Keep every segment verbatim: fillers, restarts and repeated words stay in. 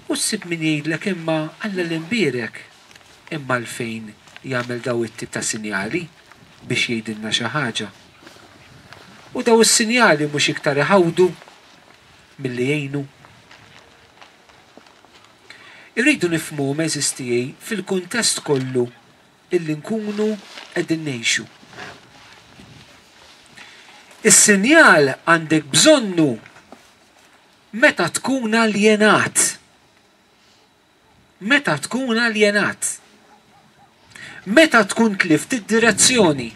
U ssib min jgħidlek imma Alla l-imbierek imma għalfejn jagħmel daw it-tip ta' sinjali biex jgħidilna xi ħaġa. U daw is-sinjali mhux iktar iħawdu milli jgħinu. Irridu nifhmu, għeżież tiegħi, fil-kuntest kollu illi nkunu qegħdin ngħixu. Is-sinjal għandek bżonnu meta tkun aljenat. Meta tkun aljenat. Meta tkun tlift id-direzzjoni.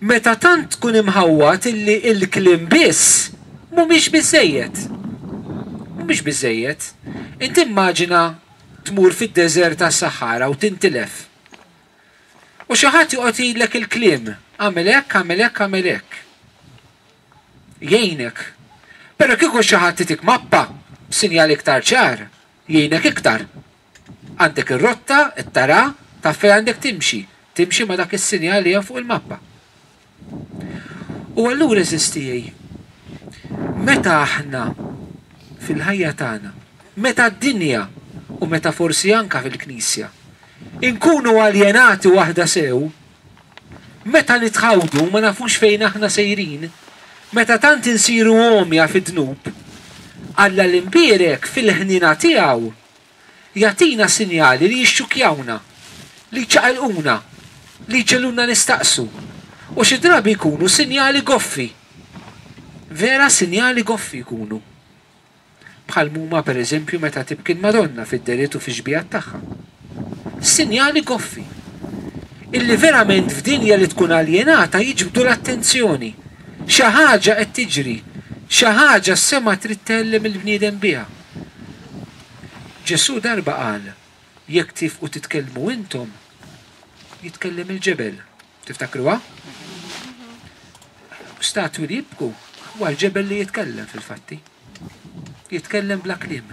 Meta tant tkun imħawwad illi il-kliem biss mhumiex biżejjed. Mhumiex biżejjed. Inti immaġina tmur fid-deżert tas-Sahara u tintilef. U xi ħadd joqgħod jgħidlek il-kliem, għamel hekk, għamel hekk, għamel hekk. Jgħinek. Però kieku xi ħadd itik mappa b'sinjal iktar ċar, jgħinek iktar. Għandek ir-rotta, it-tara, taf fejn għandek timxi. Timxi ma' dak is-sinjal li hemm fuq il-mappa. U allura, għeżież tiegħi, meta aħna fil-ħajja tagħna, meta d-dinja u meta forsi anka fil-Knisja, inkunu aljenati waħda sew, meta nitħawdu ma nafux fejn aħna sejrin, meta tant insiru għomja fid-dnub, Alla l-imbierek fil-ħnina tiegħu jagħtina sinjali li jixxukjawna, li jċaqilquna, li jġegħluna nistaqsu. U xi drabi jkunu sinjali goffi. Vera sinjali goffi jkunu. Bħal muma per eżempju meta tibki l-Madonna fid-deriet u fix-xbihat tagħha. Sinjali goffi. Illi verament f'dinja li tkun aljenata jiġbdu l-attenzjoni. Xi ħaġa qed tiġri, xi ħaġa s-sema trid tellem il-bniedem biha. Ġesu darba qal, jekk tifqu titkellmu intom, jitkellem il-ġebel. Tiftakruha? Statwi li jibku, huwa l-ġebel li jitkellem fil-fatti. Jitkellem bla kliem.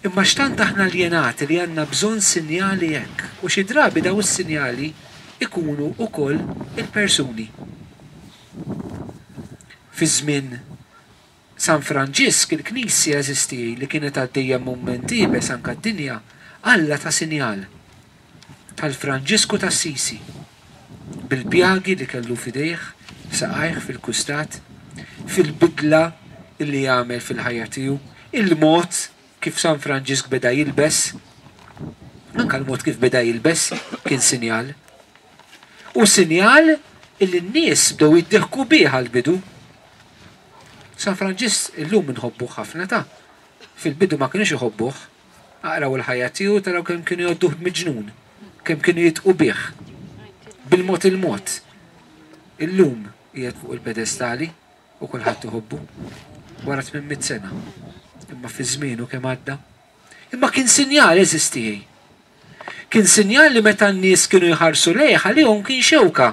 Imma x'tant aħna aljenati li għandna bżonn sinjali hekk, u xi drabi daw is-sinjali ikunu wkoll il-persuni. Fi żmien San Franġisk il-Knisja, għeżież tiegħi, li kienet għaddejja mument iebes anke d-dinja, Alla ta sinjal tal-Franġisku t'Assisi bil-pjagi li kellu f'idejh, saqajh fil-kustat, fil-bidla li jagħmel fil-ħajja tiegħu, il-mod kif San Franġisk beda jilbes, anka l-mod kif beda jilbes kien sinjal. U sinjal illi n-nies bdew jiddieħku bih għal-bidu. San Franġisk illum inħobbuh ħafna ta' fil-bidu ma kienux iħobbuh. Aqraw il-ħajja tiegħu taraw kemm kienu jgħodduh miġnun, kemm kienu jidħku bih. Bil-mod il-mod. Illum qiegħed fuq il-pedestali u kulħadd iħobbu wara tmien mitt sena. Imma fi żmienu kemm għadda. Imma kien sinjal, għeżież tiegħi. Kien sinjal li meta n-nies kienu jħarsu lejh għalihom kien xewka.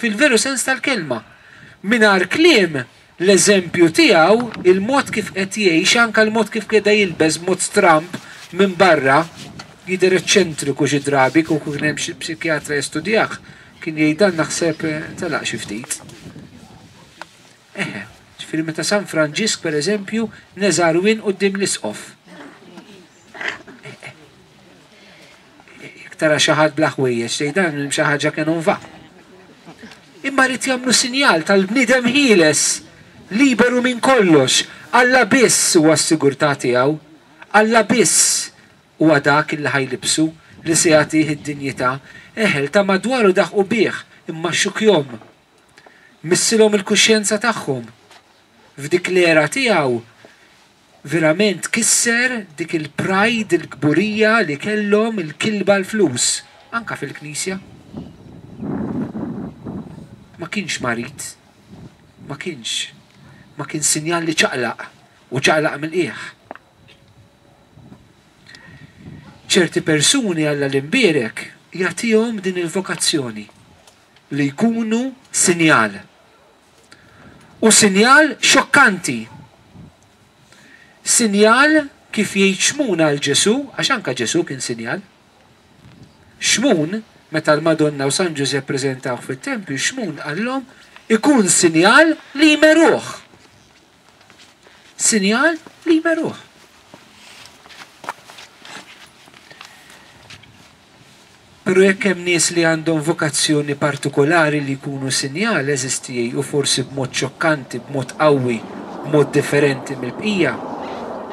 Fil-veru sens tal-kelma. Mingħajr kliem, l-eżempju tiegħu, il-mod kif qed jgħix, anke l-mod kif qiegħda jilbes mod stramb minn barra, jidher eċċentriku xi drabi, kieku kien hemm xi psikjatra jistudjah, kien jgħid dan naħseb telaq xi ftit. Eħe, ġifieri meta San Franġisk per eżempju neżar wien quddiem l-isqof. Jekk tara xi ħadd bla ħwejjeġ tgħid dan hemm xi ħaġa kien va. Imma rrid jagħmlu sinjal tal-bniedem ħieles, liberu minn kollox. Alla biss huwa s-sigurtà tiegħu. Alla biss huwa dak li ħajlibsu li se jagħtih id-dinjità. Eħel ta' madwaru daħqu bih, imma xukjom. Missilhom il-kuxjenza tagħhom. F'dik l-era tiegħu verament kisser dik il-pride, il-kburija li kellhom il-kilba l-flus, anka fil-Knisja. Ma kienx marid, ma kienx, ma kien sinjal li ċaqlaq u ċaqlaq mill-qiegħ. Ċerti persuni Alla l-imbierek jagħtihom din il-vokazzjoni li jkunu sinjal. U sinjal xokkanti. Sinjal kif jgħid Xmun għal Ġesu, għax anka Ġesu kien sinjal. Xmun, meta l-Madonna u San Ġużepp preżentawh fit-tempju, Xmun qallhom ikun sinjal li jmeruh. Sinjal li jmeruh. Però jekk hemm nies li għandhom vokazzjoni partikolari li jkunu sinjal, eżisti u forsi b'mod xokkanti, b'mod qawwi, b'mod differenti mill-bqija,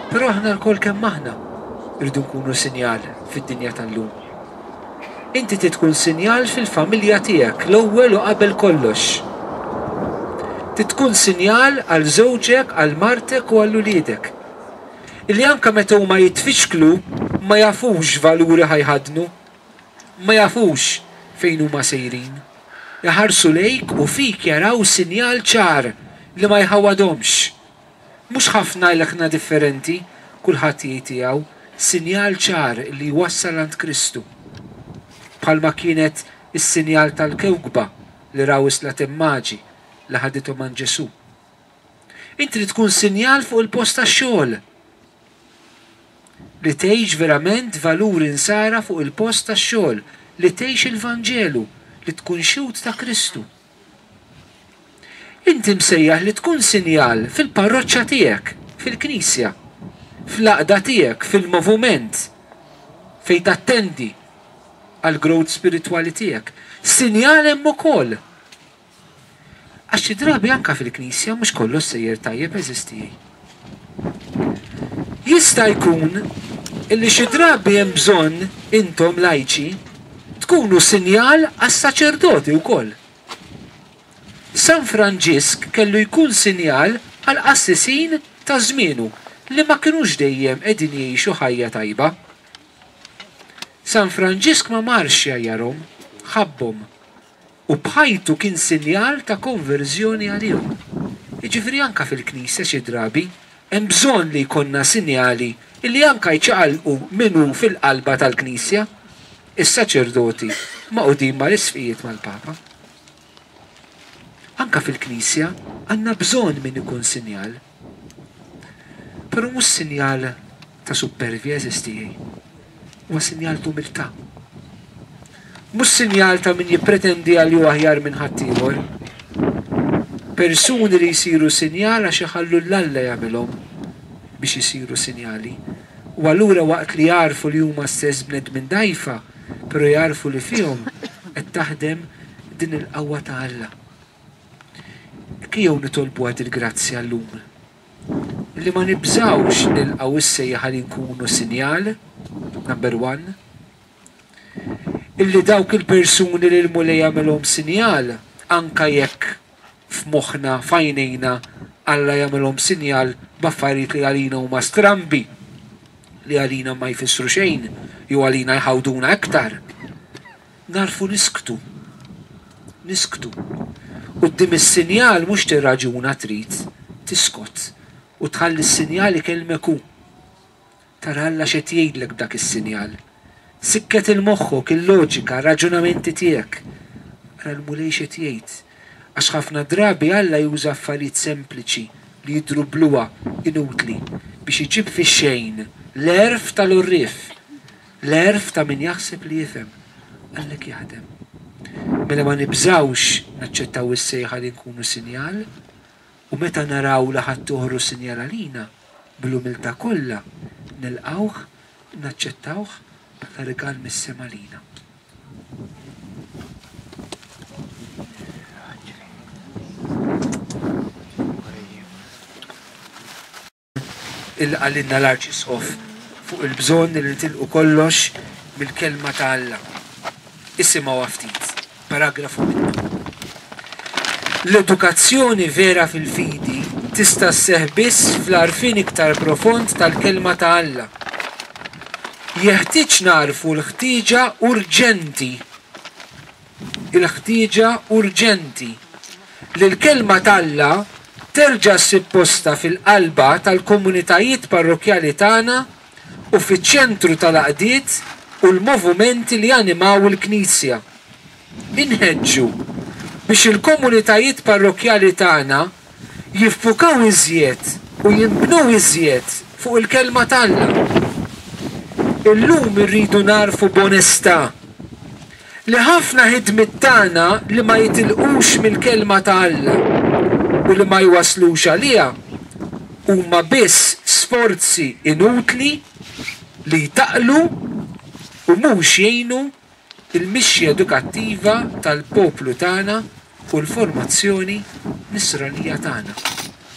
però aħna lkoll kemm aħna rridu nkunu sinjal fid-dinja tal-lum. Inti trid tkun sinjal fil-familja tiegħek l-ewwel u qabel kollox. Trid tkun sinjal għal żewġek, għal martek u għal uliedek. Illi anke meta huma jitfixklu ma jafux valuri ħajħadnu, ma jafux fejn huma sejrin. Jaħarsu lejk u fik jaraw sinjal ċar li ma jħawadhomx. Mhux ħafna l-ekna differenti, kulħadd jgħid tiegħu, sinjal ċar li jwassal għand Kristu. Bħalma kienet is-sinjal tal-kewkba li raw is-slaten maġi li ħadithom għand Ġesù. Inti li tkun sinjal fuq il-post tax-xogħol. Li tgħix verament valuri nsara fuq il-post tax-xogħol, li tgħix il-Vanġelu, li tkun xhud ta' Kristu. Inti msejjaħ li tkun sinjal fil-parroċċa tiegħek, fil-knisja, fl-għaqda tiegħek, fil-moviment, fejn tattendi għall-growth spiritwali tiegħek. Sinjal hemm ukoll. Għax xi drabi anke fil-knisja mhux kollox sejjer tajjeb, eżisti. Jista' jkun illi xi drabi hemm bżonn intom lajċi tkunu sinjal għas-saċerdoti wkoll. San Franġisk kellu jkun sinjal għall-qassisin ta' żmienu li ma kinux dejjem qegħdin jgħixu ħajja tajba. San Franġisk ma marx jgħajjarhom, ħabbhom u b'ħajtu kien sinjal ta' konverżjoni għalihom. Jiġifieri anke fil-Knisja xi drabi hemm bżonn li jkollna sinjali illi anke jċaqalqu min hu fil-qalba tal-Knisja, is-saċerdoti maqudin mal-isqfijiet mal-Papa. Anke fil-Knisja għandna bżonn min ikun sinjal. Però mhux sinjal ta' supervja, eżisti, huwa sinjal ta' umiltà. Mhux sinjal ta' min jippretendi għal ju aħjar minn ħaddieħor. Persuni li jsiru sinjal għax iħallu l-Alla jagħmilhom biex isiru sinjali. U allura waqt li jarfu li huma stess bnedmin dgħajfa, però jarfu li fihom qed taħdem din il-qawwa ta' Alla. Ejjew nitolbu għad il-grazzja llum. Li ma nibżgħux nilqgħu is-sejħa li nkunu sinjal, number one. Illi dawk il-persuni li l-Mulej jagħmilhom sinjal, anka jekk f'moħħna, f'għajnejna, Alla jagħmilhom sinjal b'affarijiet li għalina huma strambi, li għalina ma jfissru xejn, jew għalina jħawduna aktar. Narfu nisktu. Nisktu. Quddiem is-sinjal mhux tirraġuna trid, tiskot u tħalli s-sinjal ikellmek hu. Tara Alla x'qed jgħidlek b'dak is-sinjal. Sikket il-moħħok, il-loġika, raġunamenti tiegħek. Ara l-Mulej x'qed jgħid. Għax ħafna drabi Alla juża affarijiet sempliċi li jidhru bluha inutli biex iġib fix-xejn l-għerf tal-għorrief, l-għerf ta' min jaħseb li jifhem. Għalhekk jaħdem. Mela ma nibżgħux naċċettaw is-sejħa li nkunu sinjal, u meta naraw li ħadd toħru sinjal għalina, bl-umiltà kollha nilqgħuh, naċċettawh bħala rigal mis-sema lina. Il-qalilna l-Arċisqof fuq il-bżonn li nitilqu kollox mill-kelma ta' Alla. Isimgħu ftit, paragrafu minnu. L-edukazzjoni vera fil-fidi tista' sseħħ biss fl-għarfien iktar profond tal-kelma ta' Alla. Jeħtieġ narfu l-ħtieġa urġenti, il-ħtieġa urġenti li l-kelma ta' Alla terġa' ssib posta fil-qalba tal-komunitajiet parrokkjali tagħna u fiċ-ċentru tal-għaqdiet u l-movimenti li janimaw il-Knisja. Inħeġġu biex il-komunitajiet parrokkjali tagħna jiffukaw iżjed u jinbnew iżjed fuq il-kelma ta' Alla. Illum irridu narfu b'onestà li ħafna ħidmiet tagħna li ma jitilqux mill-kelma ta' Alla u li ma jwaslux għaliha huma biss sforzi inutli li jtaqlu u mhux jgħinu il-mixja edukattiva tal-poplu tagħna u l-formazzjoni nisranija tagħna.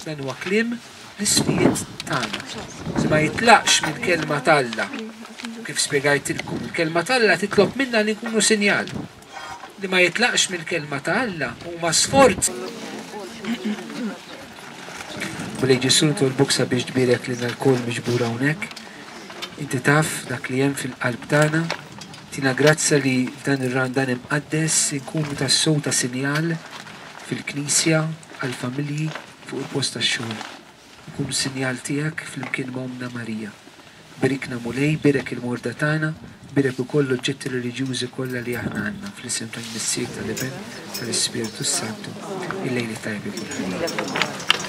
Dan huwa kliem l-isqfijiet tagħna. Se ma jitlaqx mill-kelma t'Alla. Kif spjegajtilkom, il-kelma t'Alla titlob minna li nkunu sinjal. Li ma jitlaqx mill-kelma ta' Alla huma sforzi. Mulej Ġesù, nitolbuk sabiex tbierek lilna lkoll miġbura hawnhekk. Inti taf dak li hemm fil-qalb tagħna. Tina grazzja li f'dan ir-Randan imqaddes inkunu tassew ta' sinjal fil-Knisja, għall-familji, fuq il-post tax-xogħol. Nkunu sinjal tiegħek flimkien ma' Ommna Marija. Berikna Mulej, berek il-morda tagħna, berek ukoll l-oġġetti reliġjużi kollha li aħna għandna fl-isem tal-Missier, tal-Iben, tal-Ispirtu Santu. Il-lejl it-tajjeb kulħadd.